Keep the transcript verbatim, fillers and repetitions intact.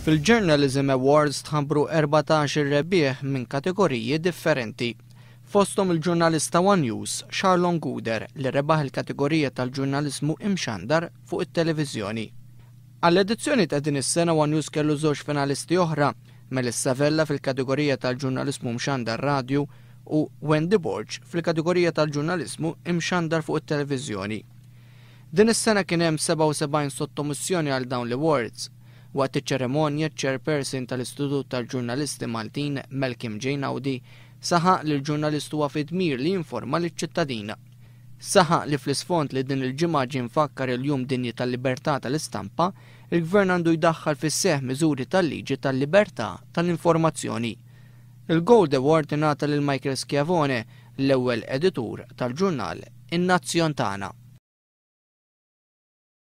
Fil-Journalism Awards tħabbru erbatax-il rebbieħ minn kategoriji differenti. Fosthom il-ġurnalista One News, Charlon Gouder, li rebaħ il-kategorija tal-ġurnaliżmu imxandar fuq it-televiżjoni. Għall-edizzjoni ta' din is-sena One News kellu żewġ finalisti oħra, Melissa Vella fil-kategorija tal-ġurnaliżmu mxandar radju u Wendy Borg fil-kategorija tal-ġurnaliżmu imxandar fuq it-televiżjoni. Din is-sena kien hemm sebgħa u sebgħin sottomissjoni għal dawn l-awards. Waqt iċ-ċerimonja, chairperson tal-Istitut tal-Ġurnalisti Maltin, Malcolm J. Naudi, saħaq li l-ġurnalist huwa fi dmir li jinforma liċ-ċittadin. Saħaq li fl-isfond li din il-ġimgħa ġie mfakkar il-Jum Dinji tal-Libertà tal-Istampa, il-Gvern għandu jdaħħal fis-seħħ miżuri tal-liġi tal-libertà tal-informazzjoni. Il-Gold Award ingħata lil Michael Schiavone, l-ewwel editur tal-ġurnal In-Nazzjon Tagħna.